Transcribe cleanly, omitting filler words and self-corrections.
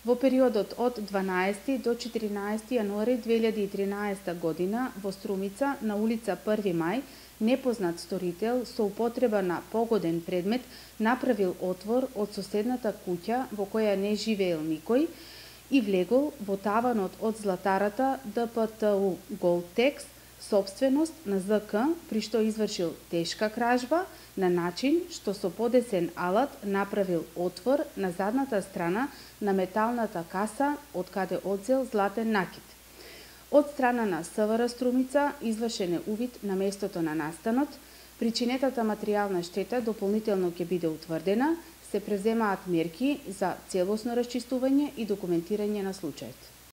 Во периодот од 12 до 14 јануари 2013 година во Струмица на улица 1 мај непознат сторител со употреба на погоден предмет направил отвор од соседната куќа во која не живеел никој и влегол во таванот од златарата ДПТУ Голтекс, сопственост на ЗК, при што извршил тешка кражба на начин што со подесен алат направил отвор на задната страна на металната каса од каде одзел златен накит. Од страна на СВР Струмица извршен е увид на местото на настанот, причинетата материјална штета дополнително ќе биде утврдена, се преземаат мерки за целосно расчистување и документирање на случајот.